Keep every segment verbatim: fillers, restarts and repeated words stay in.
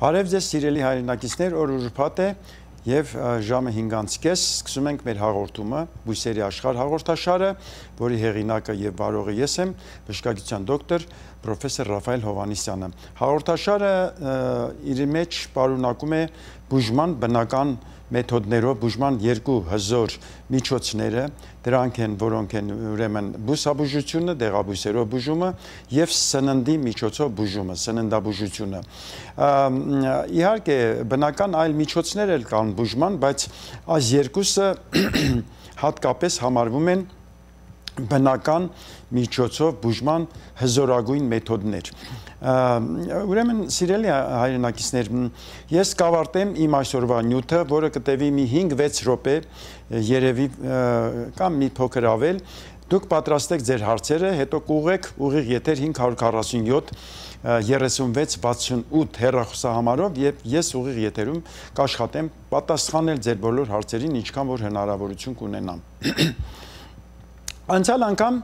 Բարև ձեզ սիրելի հայրենակիցներ, օր ուրբաթ է եւ ժամը հինգից կես սկսում ենք մեր հաղորդումը Բույսերի աշխարհ հաղորդաշարը, որի հեղինակը եւ վարողը ես եմ, բժշկագիտության դոկտոր պրոֆեսոր Ռաֆայել Հովհաննիսյանը։ Հաղորդաշարը իր մեջ պարունակում է բուժման բնական մեթոդներով բուժման երկու հզոր միջոցները, դրանք են, որոնք են ուրեմն բուսաբուժությունը, դեղաբույսերով բուժումը եւ սննդի միջոցով բուժումը, սննդաբուժությունը։ Իհարկե, բնական այլ միջոցներ էլ կան բուժման, բայց այս երկուսը հատկապես համարվում են բնական միջոցով բուժման հզորագույն մեթոդներ։ Ուրեմն սիրելի հայրենակիցներ, ես կավարտեմ իմ այսօրվա նյութը, որը կտևի մի հինգ-վեց րոպե, երևի կամ մի փոքր ավել, դուք պատրաստեք ձեր հարցերը, հետո կուղեք ուղիղ եթեր հինգ հարյուր քառասունյոթ երեսունվեց վաթսունութ հեռախոսահամարով եւ ես ուղիղ եթերում կաշխատեմ պատասխանել ձեր բոլոր հարցերին, ինչքան որ հնարավորություն կունենամ։ Անցյալ անգամ,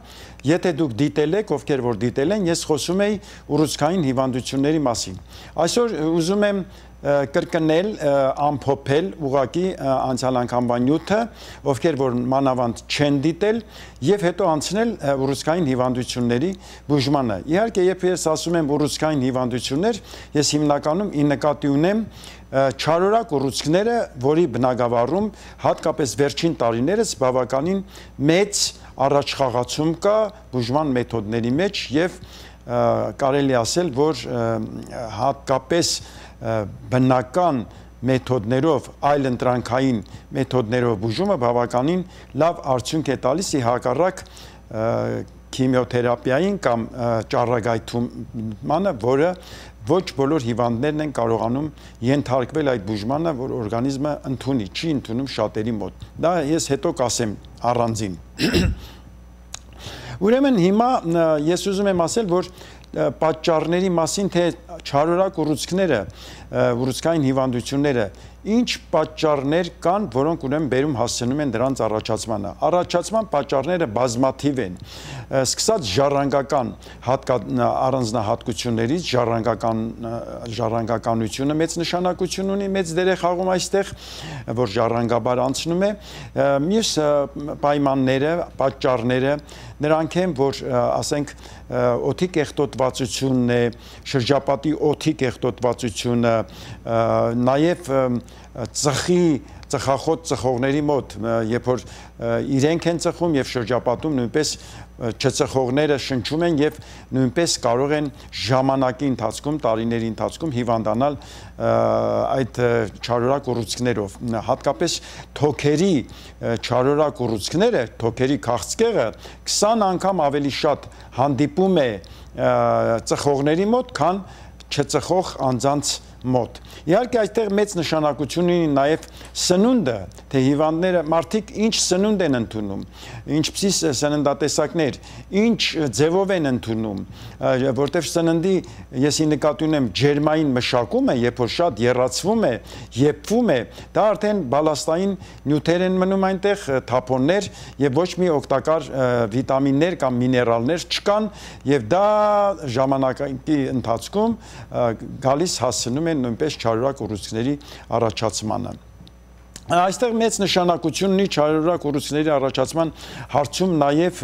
եթե դուք դիտել եք, ովքեր որ դիտել են, ես խոսում էի ուռուցքային հիվանդությունների մասին։ Այսօր ուզում եմ կրկնել, ամփոփել ուղղակի անցյալ անգամվա նյութը, ովքեր որ մանավանդ չեն դիտել, եւ հետո անցնել ուռուցքային հիվանդությունների բուժմանը։ Իհարկե, երբ ես ասում եմ ուռուցքային հիվանդություններ, ես հիմնականում ի նկատի ունեմ չարորակ ուռուցքները, որի բնագավառում հատկապես վերջին տարիներս բավականին մեծ առաջխաղացում կա բուժման մեթոդների մեջ եւ կարելի ասել, որ հատկապես բնական մեթոդներով, այլ ընտրանքային մեթոդներով բուժումը բավականին լավ արդյունք է տալիս, ի հակառակ քիմիոթերապիային կամ ճառագայթումանը, որը ոչ բոլոր հիվանդներն են կարողանում ենթարկվել այդ բուժմանը, որ օրգանիզմը ընդունի, չի ընդունում շատերի մոտ։ Դա ես հետո կասեմ առանձին։ Ուրեմն հիմա ես ուզում եմ ասել, որ պատճառների մասին, թե չարորակ ուռուցքները, ուռուցքային հիվանդությունները, ինչ պատճառներ կան, որոնք ուրեմն բերում հասցնում են դրանց առաջացմանը։ Առաջացման պատճառները բազմաթիվ են, սկսած ժառանգական առանձնահատկություններից, ժառանգական ժառանգականությունը մեծ նշանակություն ունի, մեծ դեր է խաղում այստեղ, որ ժառանգաբար անցնում է, մյուս պայմանները, պատճառները նրանք են, որ ասենք օդի կեղտոտվածությունն է, շրջապատի օդի կեղտոտվածությունը, նաև ծխի, ծխախոտ ծխողների մոտ, երբ որ իրենք են ծխում եւ շրջապատում նույնպես չծխողները շնչում են եւ նույնպես կարող են ժամանակի ընթացքում, տարիների ընթացքում հիվանդանալ այդ չարորակ ուռուցքներով։ Հատկապես թոքերի չարորակ ուռուցքները, թոքերի քաղցկեղը քսան անգամ ավելի շատ հանդիպում է ծխողների մոտ, քան չծխող անձանց մոտ։ Իհարկե այստեղ մեծ նշանակություն ունի նաև սնունդը, թե հիվանդները մարդիկ ինչ սնունդ են ընդունում, ինչպիսի սննդատեսակներ, ինչ ձևով են ընդունում, որտեղ սննդի ես ի նկատի ունեմ ջերմային մշակումը, երբ որ շատ եռացվում է, եփվում է, դա արդեն բալաստային նյութեր են մնում այնտեղ, թափոններ եւ ոչ մի օգտակար վիտամիններ կամ միներալներ չկան եւ դա ժամանակի ընթացքում գալիս հասցնում են նույնպես չարորակ ուռուցքների առաջացմանը։ Այստեղ մեծ նշանակություն ունի չարորակ ուռուցքների առաջացման հարցում նաև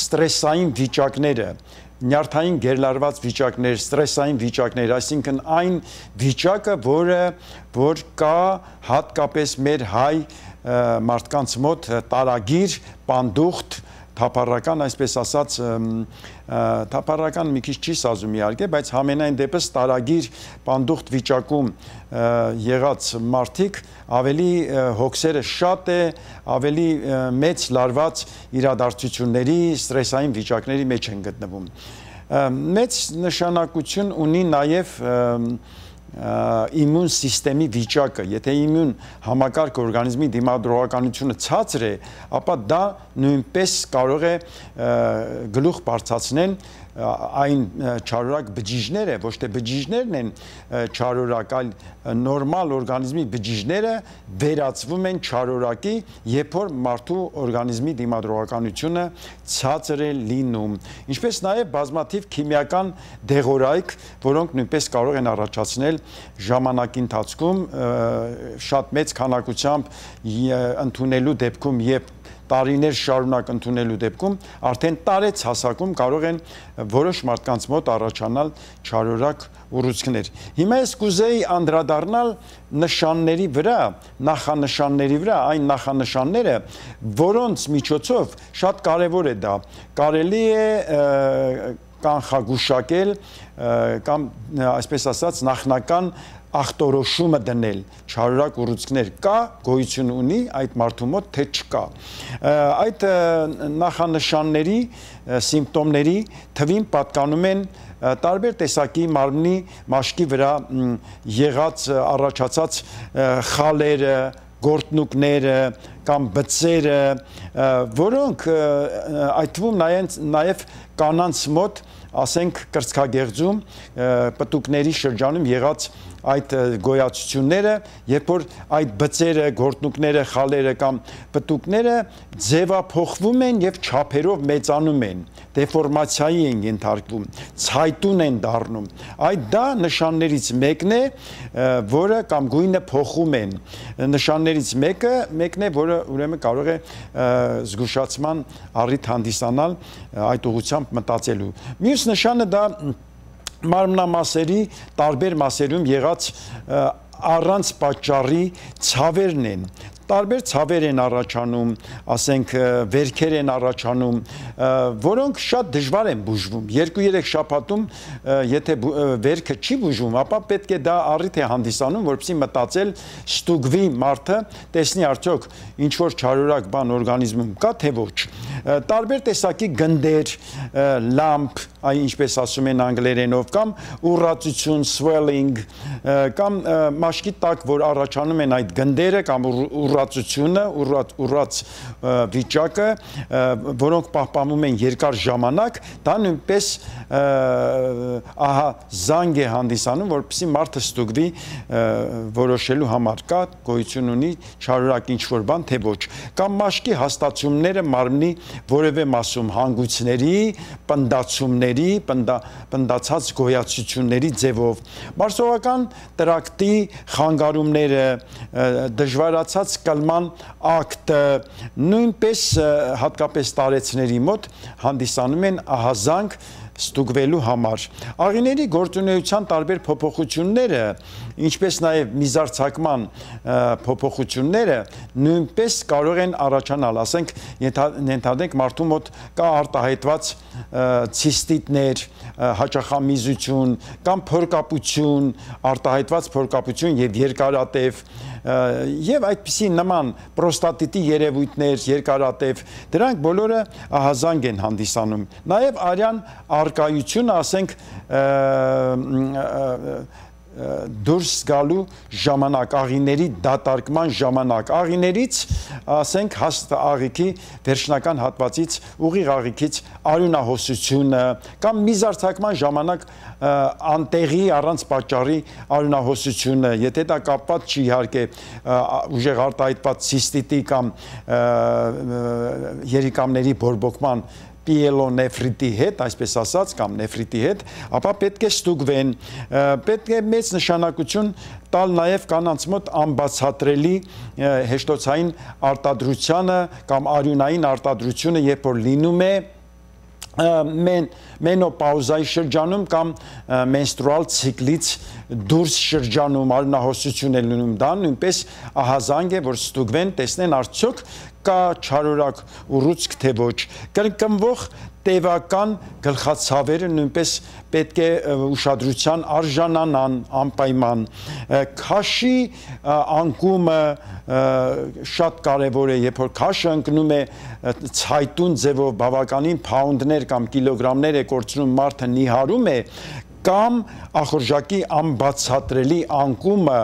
ստրեսային վիճակները, նյարդային գերլարված վիճակներ, ստրեսային վիճակներ, այսինքն այն վիճակը, որը որ կա հատկապես մեր հայ մարդկանց մոտ տարագիր, պանդուխտ, թափառական, այսպես ասած, թափառական մի քիչ չի սազում իհարկե, բայց համենայն դեպս տարագիր պանդուխտ վիճակում եղած մարդիկ ավելի հոգսերը շատ է, ավելի մեծ լարված իրադարձությունների, ստրեսային վիճակների մեջ են գտնվում։ Մեծ նշանակություն ունի նաև իմուն սիստեմի վիճակը, եթե իմուն համակարգ օրգանիզմի դիմադրողականությունը ցածր է, ապա դա նույնպես կարող է գլուխ բարձրացնել այն չարորակ բջիջները, ոչ թե բջիջներն են չարորակ, այլ նորմալ օրգանիզմի բջիջները վերածվում են չարորակի, երբ որ մարդու օրգանիզմի դիմադրողականությունը ցածր է լինում, ինչպես նաև բազմաթիվ քիմիական դեղորայք, որոնք նույնպես կարող են առաջացնել ժամանակի ընթացքում շատ մեծ քանակությամբ ընդունելու դեպքում եւ տարիներ շարունակ ընդունելու դեպքում արդեն տարեց հասակում կարող են որոշ մարդկանց մոտ առաջանալ չարորակ ուռուցքներ։ Հիմա ես կուզեի անդրադառնալ նշանների վրա, նախանշանների վրա, այն նախանշանները, որոնց միջոցով շատ կարևոր է դա, կարելի է կանխագուշակել կամ այսպես ասած նախնական ախտորոշումը դնել, չարորակ ուռուցքներ կա, գոյություն ունի այդ մարդու մոտ, թե չկա։ Այդ նախանշանների, սիմպտոմների թվին պատկանում են տարբեր տեսակի մարմնի մաշկի վրա եղած առաջացած խալերը, գործնուկները կամ բծերը, որոնք այդ թվում նաև կանանց մոտ, ասենք կրծքագեղձում, պտուկների շրջանում եղած այդ գոյացությունները, երբ որ այդ բծերը, գործնուկները, խալերը կամ պտուկները ձևափոխվում են եւ չափերով մեծանում են, դեֆորմացիայի են ենթարկվում, ցայտուն են դառնում։ Այդ դա նշաններից մեկն է, որը կամ գույնը փոխում են։ Նշաններից մեկը, մեկն է, որը ուրեմն կարող է զգուշացման առիթ հանդիսանալ այդ ուղղությամբ մտածելու։ Մյուս նշանը դա մարմնամասերի տարբեր մասերում եղած առանց պատճառի ցավերն են։ Տարբեր ցավեր են առաջանում, ասենք վերքեր են առաջանում, որոնք շատ դժվար են բուժվում։ Երկու-երեք շաբաթում, եթե վերքը չի բուժվում, ապա պետք է դա առիթ է հանդիսանում, որպեսզի մտածել ստուգվի մարդը, տեսնի արդյոք ինչ որ չարորակ բան օրգանիզմում կա, թե ոչ։ Տարբեր տեսակի գնդեր, լամպ, այն ինչպես ասում են անգլերենով, կամ ուռածություն, swelling, կամ մաշկի տակ, որ առաջանում են այդ գնդերը կամ ուռածությունը, ուռած վիճակը, որոնք պահպանում են երկար ժամանակ, դա նույնպես ահա զանգ է հանդիսանում, որպեսզի մարդը ստուգվի որոշելու համար կա, գոյություն ունի չարորակ ինչ-որ բան, թե ոչ։ Կամ մաշկի հաստացումները մարմնի որևէ մասում հանգույցների, պնդացումների, պնդացած գոյացությունների ձևով։ Մարսողական տրակտի խանգարումները, դժվարացած կլման ակտը, նույնպես հատկապես տարեցների մոտ հանդիսանում են ահազանգ ստուգվելու համար։ Աղիների գործունեության տարբեր փոփոխությունները, ինչպես նաև միզարձակման փոփոխությունները նույնպես կարող են առաջանալ, ասենք ենթադրենք մարդու մոտ կա արտահայտված ցիստիտներ, հաճախամիզություն կամ փորկապություն, արտահայտված փորկապություն եւ երկարատև եւ այդպիսի նման պրոստատիտի երևույթներ, երկարատև, դրանք բոլորը ահազանգ են հանդիսանում։ Նաեւ արյան արկայությունը, ասենք դուրս գալու ժամանակ, աղիների դատարկման ժամանակ, աղիներից, ասենք հաստ աղիքի վերջնական հատվածից, ուղիղ աղիքից արյունահոսությունը կամ միզարձակման ժամանակ անտեղի առանց պատճառի արյունահոսությունը, եթե դա կապված չի իհարկե ուժեղ արտահայտված ցիստիտի կամ երիկամների բորբոքման պիելոնեֆրիտի հետ, այսպես ասած, կամ նեֆրիտի հետ, ապա պետք է ստուգվեն, պետք է մեծ նշանակություն տալ նաև կանանց մոտ անբացատրելի հեշտոցային արտադրությանը կամ արյունային արտադրությունը, երբ որ լինում է մենոպաուզայի շրջանում կամ մենստրուալ ցիկլից դուրս շրջանում արյունահոսություն է լինում, դա նույնպես ահազանգ է, որ ստուգվեն, տեսնեն արդյոք կա չարորակ ուռուցք, թե ոչ։ Կրկնվող տևական գլխացավերը նույնպես պետք է ուշադրության արժանանան անպայման։ Քաշի անկումը շատ կարևոր է, երբ որ քաշը ընկնում է ցայտուն ձևով, բավականին փաունդներ կամ կիլոգրամներ է կորցնում, մարդը նիհարում է, կամ ախորժակի անբացատրելի անկումը,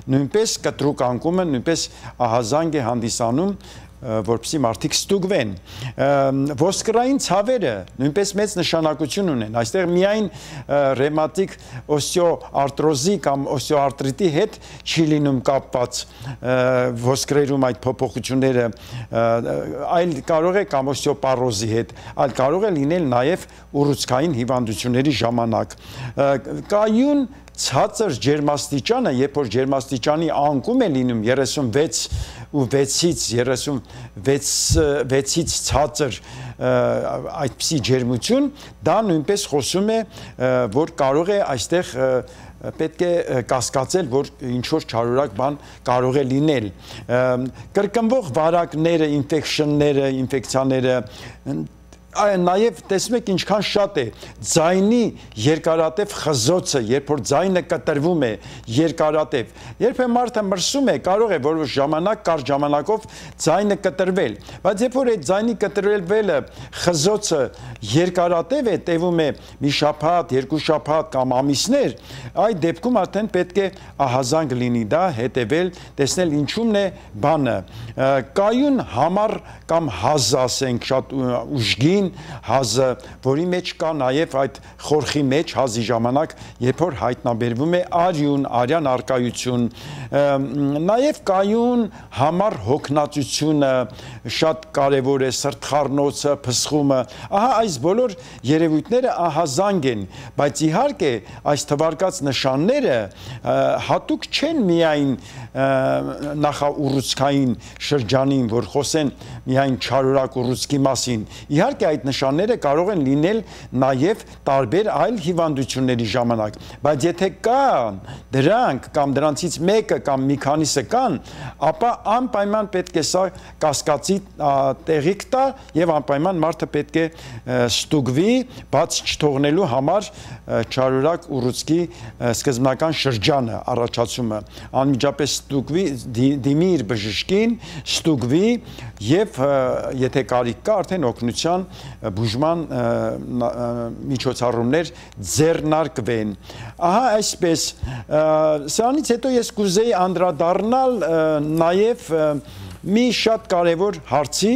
նույնպես կտրուկ անկումը նույնպես ահազանգ է հանդիսանում որպեսզի մարդիկ ստուգվեն։ Ոսկրային ցավերը նույնպես մեծ նշանակություն ունեն։ Այստեղ միայն ռևմատիկ օստեոարտրոզի կամ օստեոարտրիտի հետ չի լինում կապված ոսկրերում այդ փոփոխությունները, այլ կարող է կամ օստեոպարոզի հետ, այլ կարող է լինել նաև ուռուցքային հիվանդությունների ժամանակ։ Կայուն ցածր ջերմաստիճանը, երբ որ ջերմաստիճանի անկում է լինում երեսունվեց ու վեցից երեսունվեցից ցածր այդպիսի ջերմություն, դա նույնպես խոսում է, որ կարող է այստեղ պետք է կասկածել, որ ինչ-որ չարորակ բան կարող է լինել։ Կրկնվող վարակները, ինֆեկշնները, ինֆեկցիաները, նաև տեսնում եք ինչքան շատ է ձայնի երկարատև խզոցը, երբ որ ձայնը կտրվում է երկարատև, երբ է մարդը մրսում է, կարող է որոշ ժամանակ, կարճ ժամանակով ձայնը կտրվել, բայց երբ որ այդ ձայնի կտրվելը խզոցը երկարատև է, տևում է մի շաբաթ, երկու շաբաթ կամ ամիսներ, այդ դեպքում արդեն պետք է ահազանգ լինի դա հետևել, տեսնել ինչումն է բանը։ Կայուն համառ կամ հազ, ասենք, շատ ուժգին հազը, որի մեջ կա նաև այդ խորխի մեջ հազի ժամանակ, երբ որ հայտնաբերվում է արյուն, արյան առկայություն, նաև կայուն համառ հոգնածությունը շատ կարևոր է, սրտխառնոցը, փսխումը, ահա այս բոլոր երևույթները ահազանգ են, բայց իհարկե այս թվարկած նշանները հատուկ չեն միայն նախաուռուցքային շրջանին, որ խոսեն միայն չարորակ ուռուցքի մասին, իհարկե այդ նշանները կարող են լինել նաև տարբեր այլ հիվանդությունների ժամանակ, բայց եթե կան դրանք կամ դրանցից մեկը կամ մի քանիսը կան, ապա անպայման պետք է սա կասկածի տեղիք տա եւ անպայման մարդը պետք է ստուգվի, բաց չթողնելու համար չարորակ ուռուցքի սկզբնական շրջանը առաջացումը, անմիջապես ստուգվի, դիմի իր բժշկին, ստուգվի եւ եթե կարիք կա արդեն օգնության բուժման միջոցառումներ ձեռնարկվեն։ Ահա այսպես, սրանից հետո ես կուզեի անդրադառնալ նաև մի շատ կարևոր հարցի,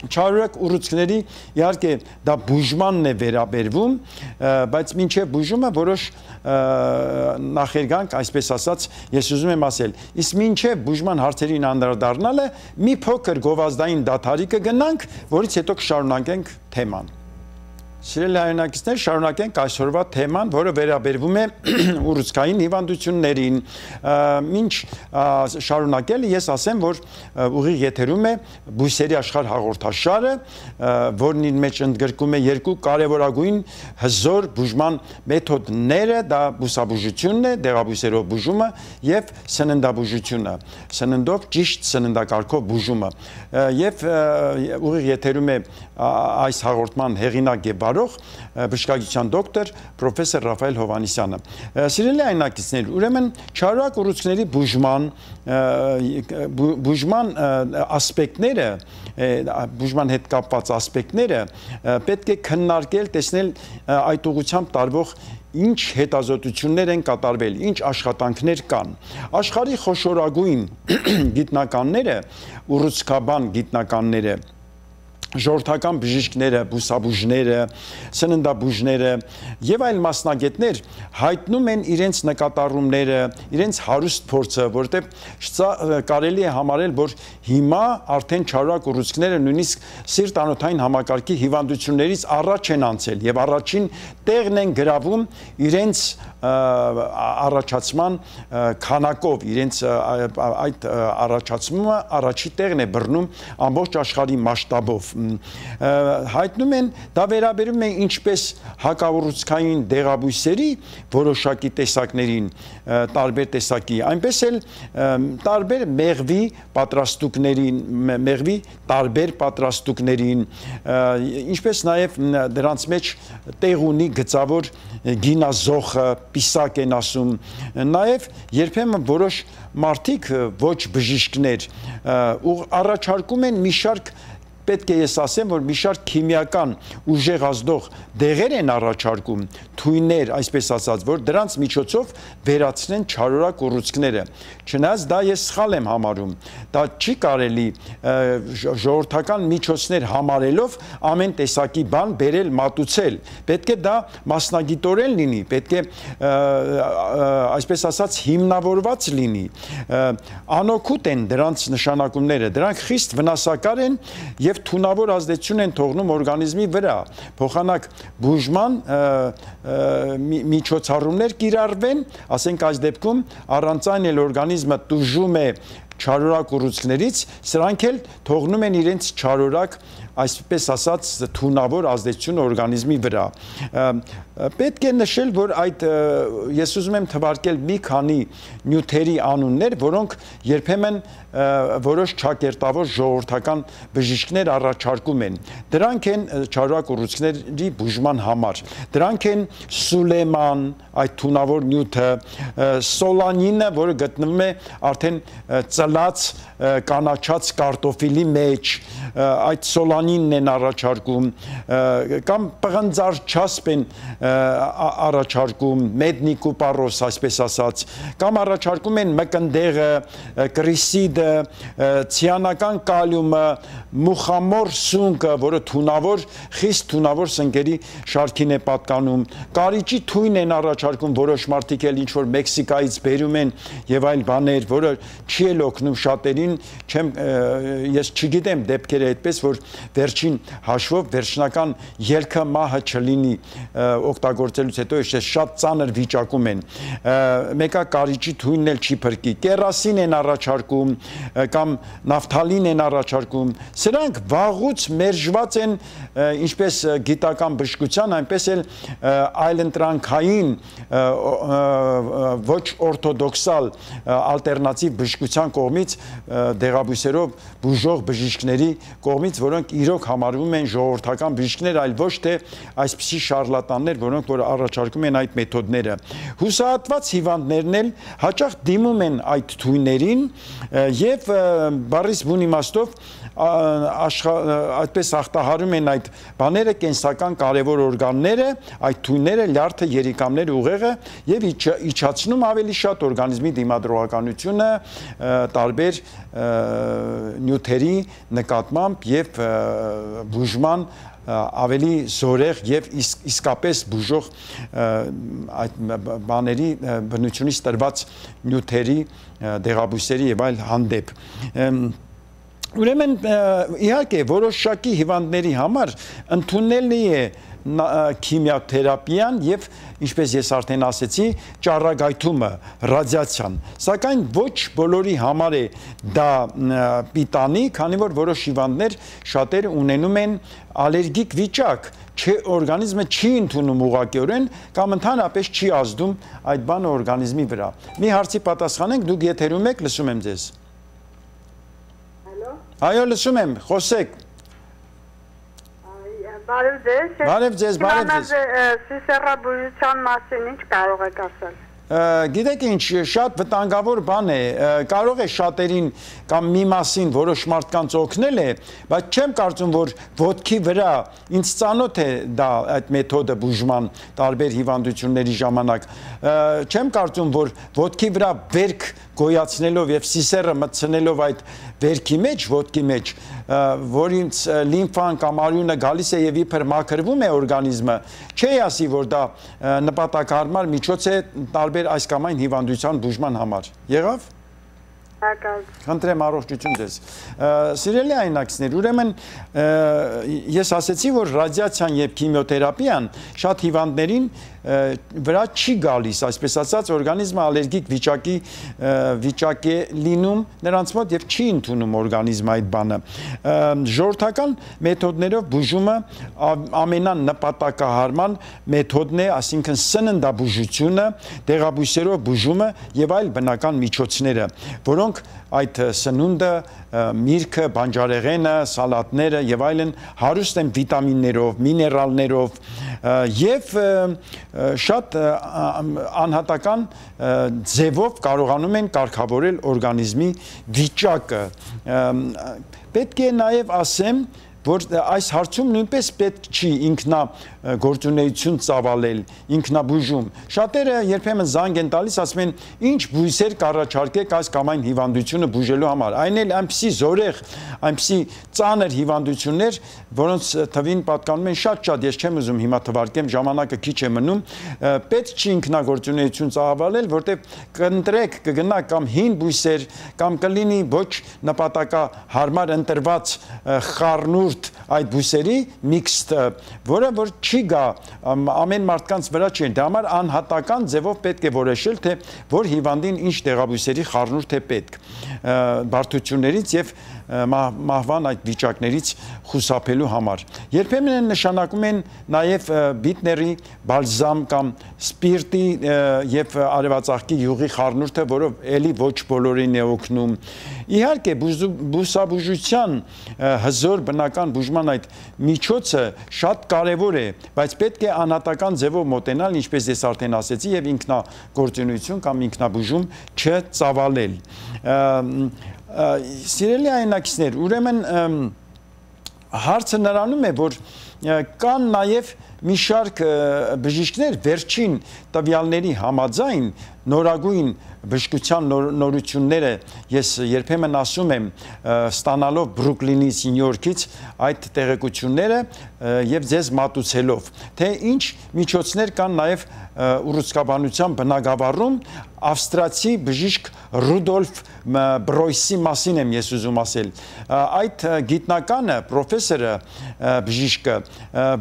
չարորակ ուռուցքների, իհարկե դա բուժմանն է վերաբերվում, բայց մինչև բուժումը որոշ նախերգանք, այսպես ասած, ես ուզում եմ ասել, իսկ մինչև բուժման հարցերին անդրադառնալը մի փոքր գովազդային դադարի կգնանք, որից հետո կշարունակենք թեման։ Սիրելի հայրենակիցներ, շարունակենք այսօրվա թեման, որը վերաբերվում է ուռուցքային հիվանդություններին։ Մինչ շարունակել ես ասեմ, որ ուղիղ եթերում է բույսերի աշխարհ հաղորդաշարը, որն իր մեջ ընդգրկում է երկու կարևորագույն հզոր բուժման մեթոդները, դա բուսաբուժությունն է, դեղաբույսերով բուժումը եւ սննդաբուժությունը, սննդով ճիշտ սննդակարգով բուժումը։ Եվ ուղիղ եթերում է այս հաղորդման հեղինակ եւ բժշկագիտության դոկտոր պրոֆեսոր Ռաֆայել Հովհաննիսյանը։ Սիրելի հայրենակիցներ, ուրեմն չարորակ ուռուցքների բուժման բուժման ասպեկտները, բուժման հետ կապված ասպեկտները պետք է քննարկել, տեսնել այդ ուղղությամբ տարվող ինչ հետազոտություններ են կատարվել, ինչ աշխատանքներ կան։ Աշխարհի խոշորագույն գիտնականները, ուռուցքաբան գիտնականները, ժողովրդական բժիշկները, բուսաբուժները, սննդաբուժները եւ այլ մասնագետներ հայտնում են իրենց նկատառումները, իրենց հարուստ փորձը, որտեղ կարելի է համարել, որ հիմա արդեն չարորակ ուռուցքները նույնիսկ սիրտ-անոթային համակարգի հիվանդություններից առաջ են անցել եւ առաջին տեղն են գրավում իրենց առաջացման քանակով, իրենց այդ առաջացումը առաջի տեղն է բռնում ամբողջ աշխարհի մասշտաբով։ Հայտնում են, դա վերաբերում է ինչպես հակաուռուցքային դեղաբույսերի որոշակի տեսակներին, տարբեր տեսակի, այնպես էլ տարբեր մեղվի պատրաստուկներին, մեղվի տարբեր պատրաստուկներին, ինչպես նաև դրանց մեջ տեղ ունի գծավոր գինազոխը, պիսակ են ասում, նաև երբեմն որոշ մարդիկ ոչ բժիշկներ առաջարկում են մի շարք պետք է ես ասեմ, որ մի շարք քիմիական ուժեղ ազդող դեղեր են առաջարկում, թույներ, այսպես ասած, որ դրանց միջոցով վերացնեն չարորակ ուռուցքները։ Չնայած դա ես սխալ եմ համարում, դա չի կարելի ժողովրդական միջոցներ համարելով ամեն տեսակի բան բերել մատուցել։ Պետք է դա մասնագիտորեն լինի, պետք է այսպես ասած հիմնավորված լինի։ Անօգուտ են դրանց նշանակումները, դրանք խիստ վնասակար են եւ թունավոր ազդեցություն են թողնում օրգանիզմի վրա, փոխանակ բուժման միջոցառումներ կիրառվեն, ասենք այս դեպքում առանց այն էլ օրգանիզմը տուժում է չարորակ ուռուցքներից, սրանք էլ թողնում են իրենց չարորակ, այսպես ասած, թունավոր ազդեցություն օրգանիզմի վրա։ Պետք է նշել, որ այդ ես ուզում եմ թվարկել մի քանի նյութերի անուններ, որոնք երբեմն որոշ չակերտավոր ժողովրդական բժիշկներ առաջարկում են։ Դրանք են չարորակ ուռուցքների բուժման համար։ Դրանք են սուլեման, այդ թունավոր նյութը, սոլանինը, որը գտնվում է արդեն ծլած կանաչած կարտոֆիլի մեջ, այդ սոլանինն են առաջարկում, կամ պղնձար չասպ են առաջարկում, մեդնիկուպարոս, այսպես ասած, կամ առաջարկում են մկնդեղը, կրիսիդը, ցիանական կալիումը, մուխամոր սունկը, որը թունավոր, խիստ թունավոր սնկերի շարքին է պատկանում, կարիճի թույն են առաջարկում, որոշ մարդիկ էլ ինչ-որ Մեքսիկայից բերում են եւ այլ բաներ, որը չի էլ օգնում շատերին, չեմ, ես չգիտեմ դեպքերը այդպես, որ վերջին հաշվով վերջնական ելքը մահը չլինի օգտագործելուց հետո շատ ծանր վիճակում են, մեկը կարիճի թույնն էլ չի փրկի, կերասին են առաջարկում կամ նավթալին են առաջարկում, սրանք վաղուց մերժված են ինչպես գիտական բժշկության, այնպես էլ այլընտրանքային ոչ օրթոդոքսալ ալտերնատիվ բժշկության կողմից դեղաբույսերով բուժող բժիշկների կողմից, որոնք իրոք համարվում են ժողովրդական բժիշկներ, այլ ոչ թե այսպիսի շարլատաններ, որոնք որ առաջարկում են այդ մեթոդները։ Հուսահատված հիվանդներն էլ հաճախ դիմում են այդ թույներին եւ բառից բուն իմաստով այդպես ախտահարում են այդ բաները, կենսական կարևոր օրգանները, այդ թույները, լյարդը, երիկամները, ուղեղը եւ իջացնում ավելի շատ օրգանիզմի դիմադրողականությունը տարբեր նյութերի նկատմամբ եւ բուժման ավելի զորեղ եւ իսկապես բուժող այդ բաների բնությունից տրված նյութերի, դեղաբույսերի եւ այլ հանդեպ։ Ուրեմն իհարկե որոշակի հիվանդների համար ընդունելի է քիմիոթերապիան եւ ինչպես ես արդեն ասեցի, ճառագայթումը, ռադիացիան, սակայն ոչ բոլորի համար է դա պիտանի, քանի որ որոշ հիվանդներ շատերը ունենում են ալերգիկ վիճակ, չէ օրգանիզմը չի ընդունում ուղղակիորեն կամ ընդհանրապես չի ազդում այդ բանը օրգանիզմի վրա։ Մի հարցի պատասխանենք, դուք եթերում եք, լսում եմ ձեզ։ Այո, լսում եմ, խոսեք։ Բարև ձեզ։ Բարև ձեզ, բարև ձեզ։ Սիսեռաբուժության մասին ինչ կարող եք ասել։ Գիտեք ինչ, շատ վտանգավոր բան է, կարող է շատերին կամ մի մասին որոշ մարդկանց օգնել է, բայց չեմ կարծում, որ ոտքի վրա ինձ ծանոթ է դա այդ մեթոդը բուժման տարբեր հիվանդությունների ժամանակ, չեմ կարծում, որ ոտքի վրա վերք գոյացնելով եւ սիսեռը մտցնելով այդ վերքի մեջ, ոտքի մեջ, որից լիմֆան կամ արյունը գալիս է եւ իբր մաքրվում է օրգանիզմը, չի ասի, որ դա նպատակահարմար միջոց է տարբեր այս կամ այն հիվանդության բուժման համար։ Եղավ։ Խնդրեմ առողջություն ձեզ։ Սիրելի այնակիցներ, ուրեմն ես ասեցի, որ ռադիացիան եւ քիմիոթերապիան շատ հիվանդներին վրա չի գալիս, այսպես ասած, օրգանիզմը ալերգիկ վիճակի վիճակ է լինում նրանց մոտ եւ չի ընդունում օրգանիզմը այդ բանը։ Ժողովրդական մեթոդներով բուժումը ամենանպատակահարման մեթոդն է, այսինքն սննդաբուժությունը, դեղաբույսերով բուժումը եւ այլ բնական միջոցները, որոնք այդ սնունդը, միրգը, բանջարեղենը, սալատները եւ այլն հարուստ են վիտամիններով, միներալներով եւ շատ անհատական ձևով կարողանում են կարգավորել օրգանիզմի վիճակը։ Պետք է նաեւ ասեմ, որ այս հարցում նույնպես պետք չի ինքնա գործունեություն ծավալել, ինքնաբուժում։ Շատերը երբեմն զանգ են տալիս, ասում են, ինչ բույսեր կառաջարկեք այս կամ այն հիվանդությունը բուժելու համար։ Այն էլ այնպիսի զորեղ, այնպիսի ծանր հիվանդություններ, որոնց թվին պատկանում են շատ-շատ, ես չեմ ուզում հիմա թվարկեմ, ժամանակը քիչ է մնում, պետք չի ինքնագործունեություն ծավալել, որտեղ կընտրեք, կգնաք կամ հին բույսեր, կամ կլինի ոչ նպատակահարմար ընտրված խառնուրդ այդ բույսերի միքսը, որը որ չի գա ամեն մարդկանց վրա չի, դրա համար անհատական ձևով պետք է որոշել, թե որ հիվանդին ինչ դեղաբույսերի խառնուրդ է պետք բարդություններից եւ մահվան այդ վիճակներից խուսափելու համար։ Երբեմն են նշանակում են նաև բիթների բալզամ կամ սպիրտի եւ արևածաղկի յուղի խառնուրդը, որով էլի ոչ բոլորին է օգնում։ Իհարկե բուսաբուժության հզոր բնական բուժման այդ միջոցը շատ կարևոր է, բայց պետք է անհատական ձևով մոտենալ, ինչպես ես արդեն ասեցի, եւ ինքնագործունեություն կամ ինքնաբուժում չծավալել։ Սիրելի այնակիցներ, ուրեմն հարցը նրանում է, որ կան նաև մի շարք բժիշկներ վերջին տվյալների համաձայն նորագույն բժշկության նորությունները ես երբեմն ասում եմ ստանալով Բրուկլինից, Նյու Յորքից այդ տեղեկությունները եւ ձեզ մատուցելով, թե ինչ միջոցներ կան նաև ուռուցքաբանության բնագավառում ավստրացի բժիշկ Ռուդոլֆ Բրոյսի մասին եմ ես ուզում ասել։ Այդ գիտնականը, պրոֆեսորը, բժիշկը,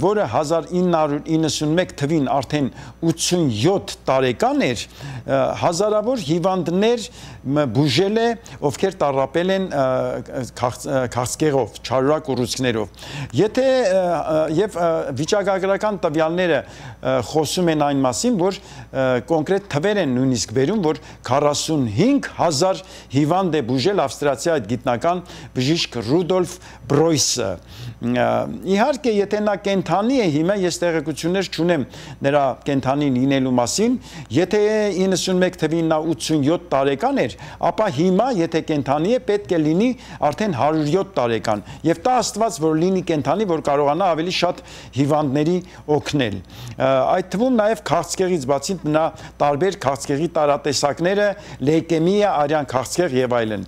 որը հազար ինը հարյուր իննսունմեկ թվին արդեն ութսունյոթ տարեկան էր, հազարավոր հիվանդներ բուժել է, ովքեր տառապել են քաղցկեղով, չարորակ ուռուցքներով։ Եթե եւ վիճակագրական տվյալները խոսում են այն մասին, որ կոնկրետ թվեր են նույնիսկ վերում, որ քառասունհինգ հազար հիվանդ է բուժել ավստրացիա այդ գիտնական բժիշկ Ռուդոլֆ Բրոյսը։ Իհարկե, եթե նա կենթանի է հիմա, ես տեղեկություններ չունեմ նրա կենթանի լինելու մասին, եթե իննսունմեկ թվին նա ութսունյոթ տարեկան էր, ապա հիմա, եթե կենթանի է, պետք է լինի արդեն հարյուրյոթ տարեկան, եւ տա Աստված, որ լինի կենթանի, որ կարողանա ավելի շատ հիվանդների օգնել։ Այդ թվում նաև քաղցկեղից բացի նա տարբեր քաղցկեղի տարատեսակները, լեյկեմիա, արյան քաղցկեղ եւ այլն։